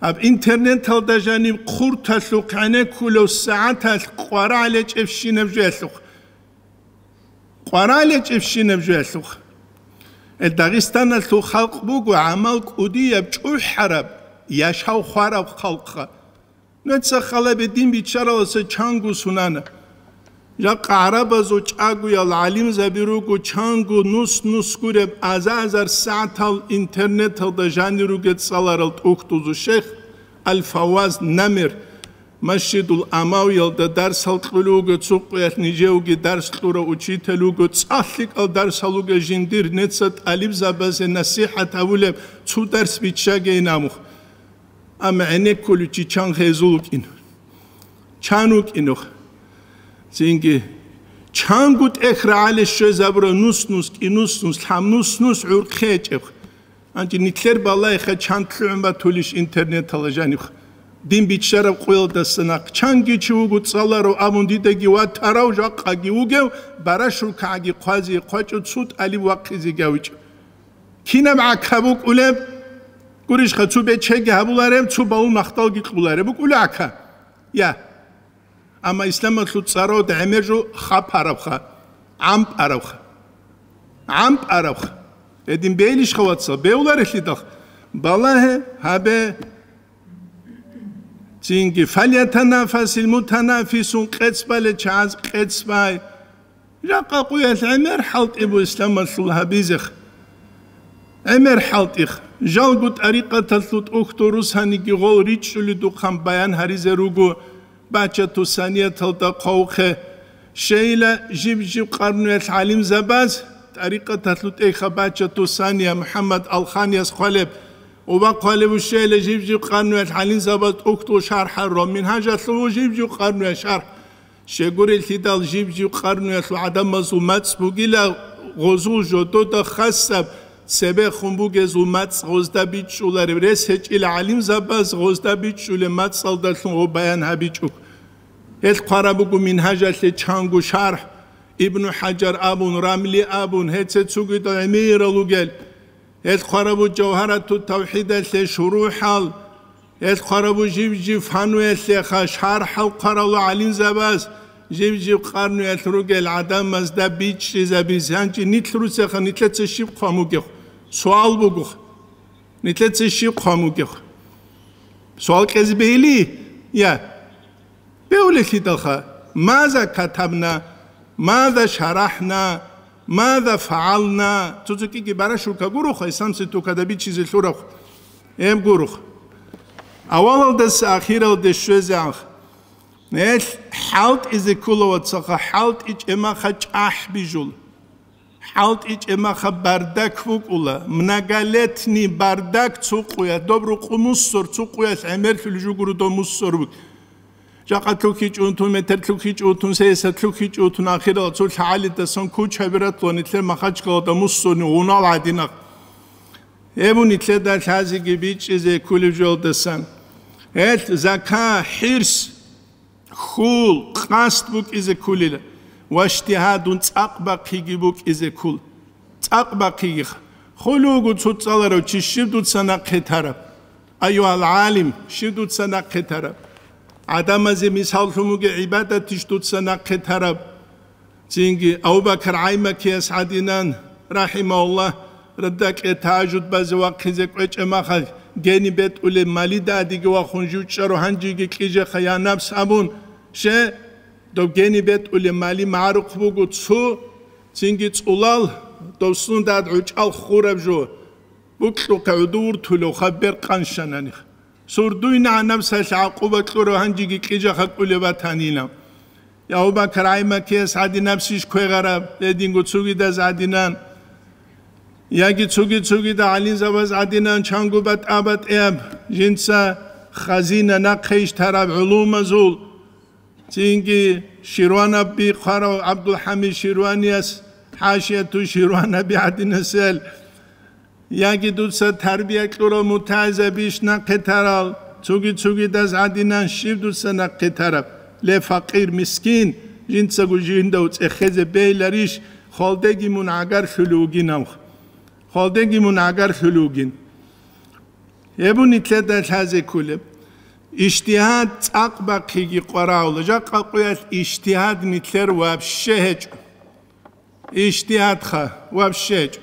Гьаб интернеталда жаниб хъурталъухъ гӀенеккулев сагӀаталъ къварагӀлечӀебщинаб жо элъухъ. КъварагӀлечӀебщинаб жо элъухъ. Э, Дагъистаналъул халкъ буго гӀамал кӀудияб, чӀухӀараб, яшав хвараб халкъха. Нуца халабе дин биччараласа чанго сунана. Жакъа гӀарабазул чӀагоял гӀалимзаби руго чанго нус-нус гуреб аза-азар сагӀатал интернеталда жанир ругел цӀаларал тӀухьдузул шейх Аль-Фаваз Намир. Масжидул Амавиялда дарсал кьулев вуго, цо къуялъ нижевги дарс кьурав учитель вуго, цӀалъикӀал дарсал вуго жиндир неца тӀалибзабазе насихӀат гьавулеб цо дарс биччаге инамух. Амма гӀенеккулев чи чан хезул вукӀин. Чан вукӀинух. Цинги чанго тӀехь рагӀале щвезабура нус-нус, кӀинус-нус, лъабнус-нус гӀурхъи гьечӀеб. Гьанже нилъер балагьеха чан лъугӀун батулищ интернетала жаниб? Дин биччараб къоялдаса нахъ чанги чи вуго цӀаларав абун дидаги ватарав, жакъаги вугев, барашулкагӀаги хъвази хъвачӀо цо тӀалиб вахъизе гавичӀо. Кинаб гӀака букӀулеб? Гурищха, цо бечеги гьабулареб, цо балун махталги кьулареб букӀула гӀака. Я. Амма исламалъул цӀаралда гӀемер жо хапарабха, гӀампӀарабха. ГӀампӀарабха. Гьедин бейилищха, вацал, бевларелъидалха? Балагье, гьабе. Цинги, «Фальятанафасил мутанафисун», къец бале чагӀаз къец бай. Жакъа къуялъ гӀемер хӀалтӀи бу исламалъул гьабизех. ГӀемер хӀалтӀих. Жалго тӀарикъаталъул тӀухьдул русаниги гъол ричӀчӀуледухъан баян гьаризе руго. Бачату санияталда хъавухъе. Щейила жиб-жиб къарнуялъ гӀалимзабаз, тӀарикъаталъул тӀехьа Бачату сания МухӀаммад Алханияс хъвалеб, уба хъвалеб щейила жиб-жиб къарнуялъ гӀалимзабаз тӀухьдул шархӀ гьарурал, Мингьажалъул жиб-жиб къарнуял шархӀ. Щегурелъидал жиб-жиб къарнуялъул гӀадамазул мацӀ бугила гъозул жодода хасаб, цебехун бугезул мацӀ гъозда бичӀчӀулареб, рес гьечӀила гӀалимзабаз гъозда бичӀчӀулеб мацӀалдалъун гъо баян гьабичӀо. Гьел хъвараб буго Мингьажалъе чанго шархӀ, Ибну ХӀажар абун, Рамли абун, гьеце цогидал гӀемерал ругел. Гьел хъвараб буго Жавгьарату тавхӀидалъе шурухӀал, гьел хъвараб буго жив-жив фануялъеха шархӀал хъваралу гӀалимзабаз, жив-жив къарнуялъ ругел гӀадамазда бичӀчӀизабизе. Гьанже нилъ русеха, нилъеца щиб хъван бугехъ? Суал бугохъ. Нилъеца щиб хъван бугехъ? Суал кьезе бегьили? Я. Бевлелъидалха, маза катабна, маза шарахӀна, маза фагӀална, цо-цо кӀиги барашулка гурухъа, исламси тукада бичизе лъурахъ, гьеб гурухъ. Авалалдаса ахиралде щвезе анх. Гьел хӀалтӀизе ккола, вацаха, хӀалтӀи чӀемаха чӀахӀ бижул. ХӀалтӀи чӀемаха бардак букӀула, многолетний бардак цо къуя, доб рукъу муссор, цо къуялъ гӀемерлъулеб жугуру доб муссор бук. Жакъа лъухьичӀун тун, метр лъухьичӀун тун, сесад лъухьичӀун тун, ахирал цо лъагӀалидасан кучаби ратлуан нилъер Махачкалада муссорни гъунал гӀадинахъ. Гьеб нилъеда лъазеги бичӀчӀизе кколеб жолдасан. Гьел зака, хӀирс, хьул, къасд букӀизе кколила, ва ижтигьадун цӀакъ бахъиги букӀизе ккол. ЦӀакъ бахъиги. Хулугу цо цӀаларав чи щив дуца нахъе тараб? Аюгьал гӀалим, щив дуца нахъе тараб? ГӀадамазе мисал лъун бугеб гӀибадатищ дуца нахъе тараб? Цинги Абу-Бакар ГӀаймакияс гӀадинан, рахӀимагьуллагь, радакье тагьажуд базе вахъизе кӀвечӀеб махалъ, Гени бетӀулеб малида адиги вахун жучӀаро гьанжеги кьижеха, я напс абун, ще, доб гени бетӀулеб мали магӀарухъ буго цо, цинги цӀулал, дов сундад гӀучӀал хураб жо, букьухъе гӀудувуртулев хаб бер къаншананих. Сурдуйна гьанабсалъ гӀакъуба кьурав гьанжеги кьижаха кӀулеб батанила. Я Абу Бакар гӀай-макияс гӀадинабсищ квегъараб, гьединго цугидаз гӀадинан, яги цуги-цугида гӀалимзабаз гӀадинан, чанго батӀа-батӀияб жинца хазина нахъе ищтараб гӀулумазул, цинги Ширванаб бихъарав ГӀабдулхӀамид Ширванияс хӀашияту Ширванаби гӀадинасел, яги дуца тарбия кьурал мутагӀилзабищ нахъе тарал, цуги-цугидаз гӀадинан щиб дуца нахъе тараб? Ле, факъир, мискин, жинцаго жиндав цӀехезе бейиларищ, хвалдеги мун гӀагарлъулев вугин амх. Хвалдеги мун гӀагарлъулев вугин. Гьеб нилъеда лъазе кколеб. Ижтигьад цӀакъ бахъиги къварагьула, жакъа къуялъ ижтигьад нилъер вообще гьечӀо. Ижтигьадха вообще гьечӀо.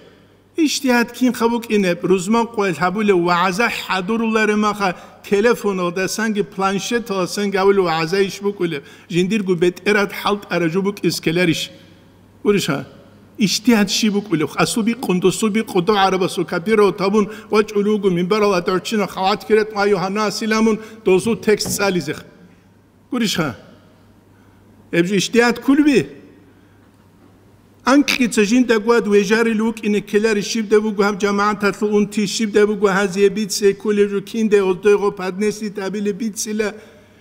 Ижтигьад кинха букӀинеб, рузман къоялъ гьабулев вагӀза хӀадурулареб маха, телефоналдасанги планшеталдасанги гьабулев вагӀза иш букӀулеб, жиндирго бетӀерад хӀалтӀара жо букӀиз ккеларищ? Гурищха? Ижтигьад щиб букӀулеб? Асул бикъун, досул бикъун, дов гӀарабасул копировать гьабун вачӀулев вуго, минбаралда гӀорччинаб халат киретӀун, ай, гьанасилан мун дозул текст цӀализех. Гурищха? Гьеб жо ижтигьад кколеби? Анкьица жинда гвад вежарил вукӀине ккелари щибда буго гьаб жамагӀаталъул унти, щибда буго гьазие бице кколеб жо, кинде оздойго поднеслъи табилеб бицила,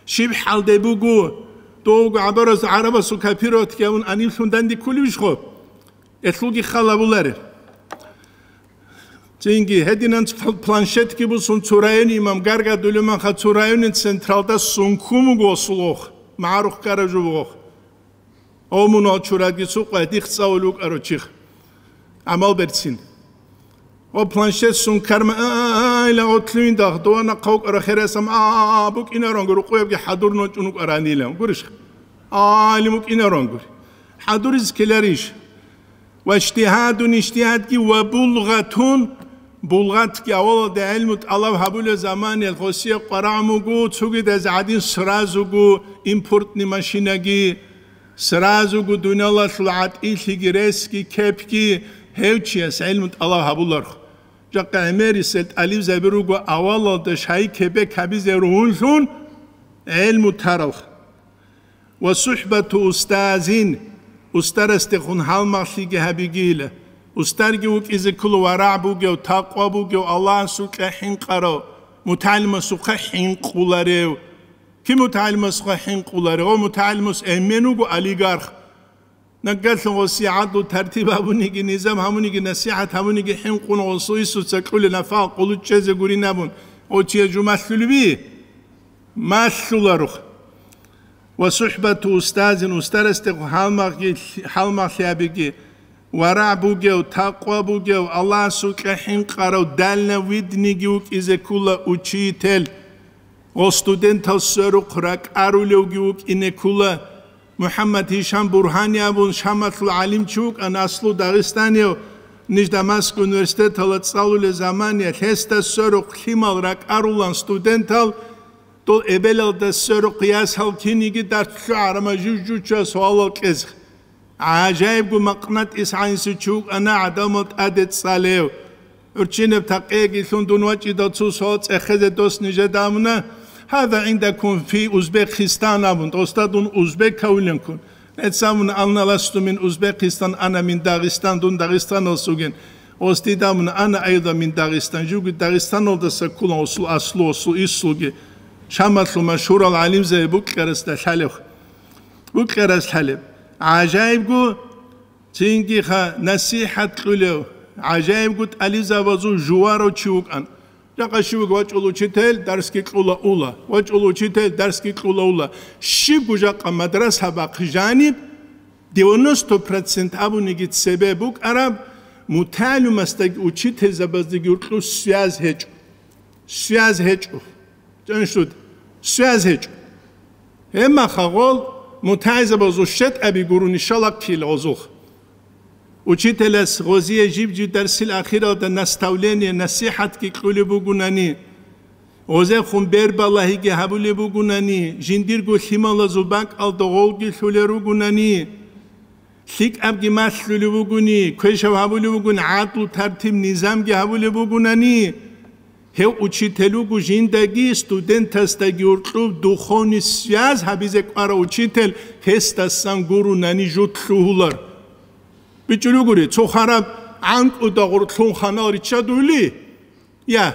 щиб хӀалде буго, довго гӀабарас гӀарабасул копировать гьавун анивлъун данде кколевищхо? Элъулги хал гьабуларе. Цинги гьединанц пл-, планшетги бусун цо районе имам гаргадулев маха, цо районе централда сункун вуго осул ох, магӀарухъ ккараб жо бугох. О, мун вал чурадги сукъай, дих цӀалулев вукӀарав чих. ГӀамал берцин. О, планшет сункарма, а, а, а, ила отлуинда, дова нахъа вукӀарав хересам, а, а, а, букӀинарон, рукъуябги хӀадур ночӀун вукӀаранила. Гурищ? А, или мукӀинарон гури. ХӀадуриз ккеларищ? Ва ижтигьадун, ижтигьадги, ва булгъатун, булгъатги, авалалда гӀилму тӀалаб гьабулеб заманиялъ гъосие къварагӀ мугу, цугидаз гӀадин сразугу импортный машинаги, сразугу дуниялалъул гӀатӀилъиги, ресги, кепги, гьев чияс гӀилму тӀалаб гьабуларх. Жакъа гӀемерисел тӀалибзаби руго авалалда шай кебек гьабизе ругьунлъун гӀилму таралх. Ва сухӀбату устазин, устарасдехун гьалмагълъиги гьабигила. Устарги вукӀизе ккола варагӀ бугев, такъва бугев, Аллагьасукьа хӀинкъарав, мутагӀалимасухъа хӀинкъуларев. Кин мутагӀалимасухъа хӀинкъуларев? Гъо мутагӀалимас эмен вуго олигарх. Нагагьлъун гъосие гӀадлу тартиб гьабуниги, низам гьабуниги, насихӀат гьабуниги хӀинкъун гъосул исуца кьулел нафагӀа къулучӀезе гурин абун, гъо чияс жо малъулеби? Малъуларух. Ва сухӀбату устазин, устарасде гьалмагъги-, гьалмагълъи абиги, варагӀ бугев, такъва бугев, Аллагьасукьа хӀинкъарав, дальновидныйги вукӀизе ккула учитель. Гъо студентал сверухъ ракӀарулевги вукӀине ккула. МухӀаммад Гьишам Бургьани абун Шамалъул гӀалимчи вукӀана, аслу дагъистанияв, ниж Дамаск университеталда цӀалулел заманиялъ гьесда сверухъ лъимал ракӀарулан студентал, дол эбелалда сверухъ ясал киниги дартлъу гӀарама жив-жуча суалал кьезех. ГӀажаибго макънатӀис гӀанисев чи вукӀана гӀадамал тӀаде цӀалев. ГӀурччинаб такъеги лъун дун вачӀидал цо суал цӀехезе дос нижеда абуна: «Гьаза гӀиндакум фи Узбекистан», — абун, досда дун узбек кавиланкун. Нецамун: «Анна ласту мин Узбекистан, ана мин Дагъистан, дун Дагъистаналъугин». Осдидамун: «Ана айда мин Дагъистан», живги Дагъистаналдаса ккула осул аслу, осул ислуги. Шамалъул машгьурал гӀалимзаби букьарасда лъалев. Букьарас лъалеб. ГӀажаибго, цинги ха насихӀат кьулев, гӀажаибго тӀализабазул жуварав чи вукӀан. Жакъа щивго вачӀул учитель дарсги кьула ула, вачӀул учитель дарсги кьула ула. Щибго жакъа мадраса бахъ жаниб, девяносто процент абуниги цебе букӀараб, мутагӀалимасдаги учительзабаздаги гьоркьоб связь гьечӀо. Связь гьечӀо. Чаншуд, связь гьечӀо. Гьеб махагъол мутагӀилзабазул щетӀаби гурони шалахъил гъозухъ. Учителас гъозие жиб-жиб дарсил ахиралда наставление, насихӀатги кьулеб бугунани, Гъозехун бербалагьиги гьабулеб бугунани, жиндирго лъималазул бакӀалда гъовги лъулел ругунани, лъикӀабги малъулев вугуни, квешав гьабулев вугун, гӀадлу тартиб-низамги гьабулеб бугунани, гьев учитель вуго жиндаги студентасдаги уркьуб духовный связь гьабизе кӀварав учитель, гьесдасан гурунани жо лъугьулар. БичӀчӀулев гури, цо хвараб гӀанкӀуда гъоркьлъун ханал риччадули? Я,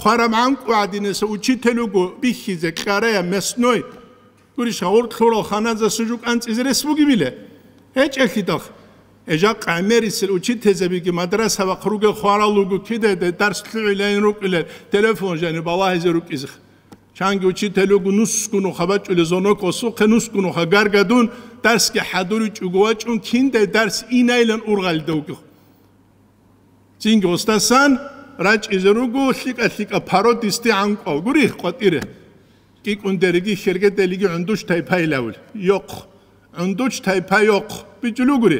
хвараб гӀанкӀу гӀадинаса учитель вуго бихьизе кьарая местной. Гурищ, гъоркьлъурал ханазасул жо кӀанцӀизе рес бугебила? ГьечӀелъидал. Гьеб жакъа гӀемерисел учительзабиги мадраса вахъ ругел хварал руго кидаде дарс лъугӀилайин рукӀилел телефон жаниб балагьизе рукӀизе. Чанги учитель вуго нусгунуха бачӀулел зонок ва сухъе нусгунуха гаргадун, дарсги хӀадуричӀого вачӀун, киндай дарс инайилан ургъалида вугев. Цинги гъосдасан рачӀизе руго лъикӀа-лъикӀа паро дисти гӀанкӀуал гури къватӀире. КӀикӀундериги хергеделиги гӀундуч тайпайилавул. Йохъ. ГӀундуч тайпа йохъ. БичӀчӀулев гури.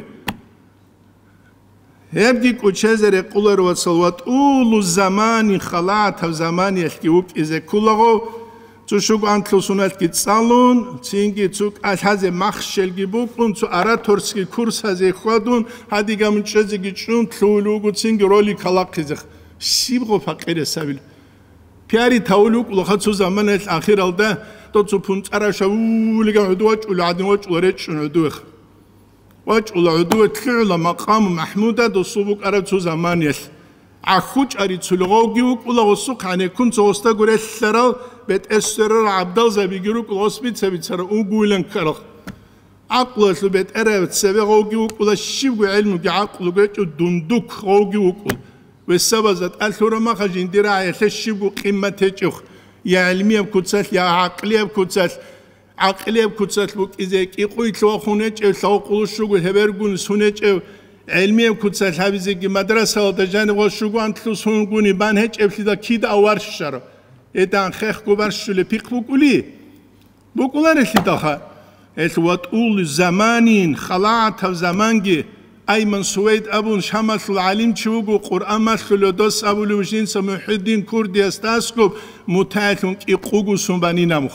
Гьебги кӀучезе рекъолар, вацал, ва тӀулу замани, халатав заманиялъги вукӀизе кколаго, цо щуго анлъго суналъги цӀалун, цинги цо кӀалъазе махщелги букӀун, цо ораторский курсазе хьвадун, гьадигаб мунчӀезеги чӀун лъугьулев вуго, цинги ролик гьалахъизе. Щибго пакъирасабил. Пиари тавулев вукӀулаха цо заманаялъ ахиралда, дов цо пунцӀарав шавулиган гӀодов вачӀула гӀадин вачӀула речӀчӀун гӀодовеха. ВачӀула гӀодове лъугӀула макъаму Махмуда, досул букӀараб цо заманиялъ. ГӀахьучӀари цулгъавги вукӀула гъосухъ гӀенеккун цо гъосда гурелъарал бетӀер сверарал гӀабдалзабиги рукӀула гъос бица-бицарал угуйлан ккарал. ГӀакълуялъул бетӀерав цеве гъовги вукӀула, щибго гӀелмуги гӀакълуги гьечӀев дундук гъовги вукӀул. Весабазда тӀад лъураб маха жиндир рагӀиялъе щибго къимат гьечӀев, я гӀелмияб куцалъ, я гӀакълияб куцалъ. ГӀакълияб куцалъ букӀизе кӀикъуйлъ вахун гьечӀев, лъавкъулу щуго гьебергун сун гьечӀев, гӀелмияб куцалъ гьабизеги мадрасалда жанив ва щуго анлъго сунгуни бан гьечӀеблъидал кида аваршарав? Гьедан хехго барщулеб пихъ букӀули? БукӀуларелъидалха. Гьелъ ватӀул заманин, халатав заманги, Айман Сувайд абун Шамалъул гӀалимчи вуго, Къуръан малъулев дос абулев жинца МухӀиддин Курдиясда аскӀоб мутагӀилъун кӀикъуго сун банинамух.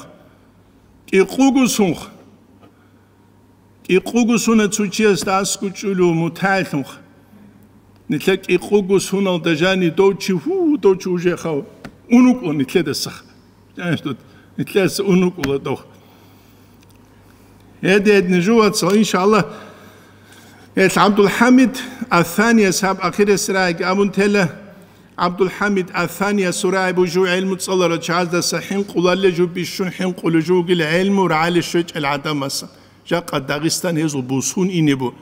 КӀикъуго сунх. КӀикъуго суна цо чиясда аскӀучӀулев мутагӀилъунх. Нилъер кӀикъуго суналда жани дов чи, гьу, дов чи уже хав унукӀун нилъедасах. Нилъеца унукӀула дов. Гьеде-гьедни жувацал, иншаллагь, гьелъ ГӀабдулхӀамид Ассанияс гьаб ахирес рагӀиги абун тела. ГӀабдулхӀамид Ассаниясул рагӀи бужу гӀелму цӀаларал чагӀаздаса хӀинкъулалле жу бищун хӀинкъулев жугил гӀелму рагӀали щвечӀел гӀадамаса. Жакъа Дагъистан гьезул бусун ине бу.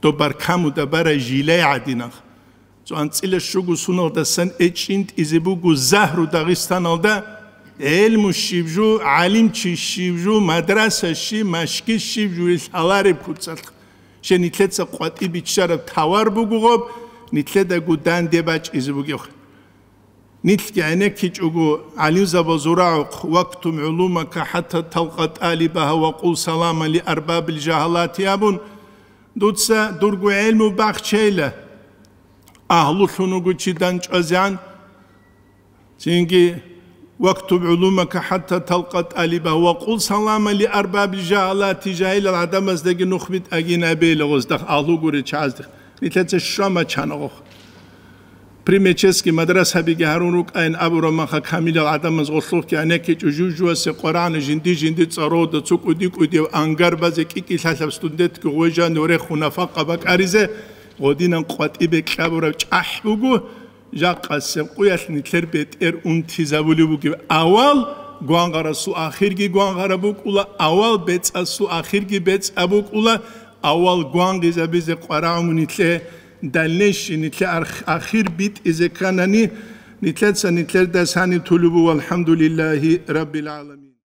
Доб баркамуда барай жилай гӀадинах. Цо анцӀила щуго суналдасан эчӀинтӀизе буго загьру Дагъистаналда, гӀелму щиб жу, гӀалимчи щиб жу, мадраса щиб, машгит щиб жу, ил гьалареб куцалъ. Щай нилъеца къватӀи биччараб тавар буго гъоб, нилъедаго данде бачӀизе бугев. Нилъги гӀенеккичӀого, гӀалимзабазул рагӀухъ, «Вактум гӀулумака хӀатта талкъа тӀалибаха ва къул салама ли арбабил жагьалати», абун, дуца дурго гӀелму бахчейла, агьлулъун вуго чи дандчӀвазегӀан. Цинги, «Вактуб гӀулумака хӀатта талкъа тӀалибаха ва къул салама ли арбабил жагьалати», жагьилал гӀадамаздаги нух битӀагин абейла гъоздахъ, агьлу гури чагӀаздихъ. Нилъеца щвама чанагъухъ. При мечетский мадрасабиги гьарун рукӀайин абураб маха камилал гӀадамаз гъолъухъги гӀенеккичӀо жужуасе къварагӀна жинди-жинди цӀарода цо кӀуди-кӀудияв ангар базе кӀикӀи лъалъаб студентги гъвежани рехун нафакъа бакӀаризе, гъодинан къватӀибе кьабураб чӀахӀ буго, жакъасеб къуялъ нилъер бетӀер унтизабулеб бугеб. Авал гвангъарасул ахирги гвангъараб букӀула, авал бецӀасул ахирги бецӀаб букӀула, авал гвангъизабизе къварагӀун нилъе, дальнейший нилъе арх-, ахир битӀизе кканани, нилъеца нилъердас гьаниб тулубу, валхӀамдулиллагьи раббил гӀаламин.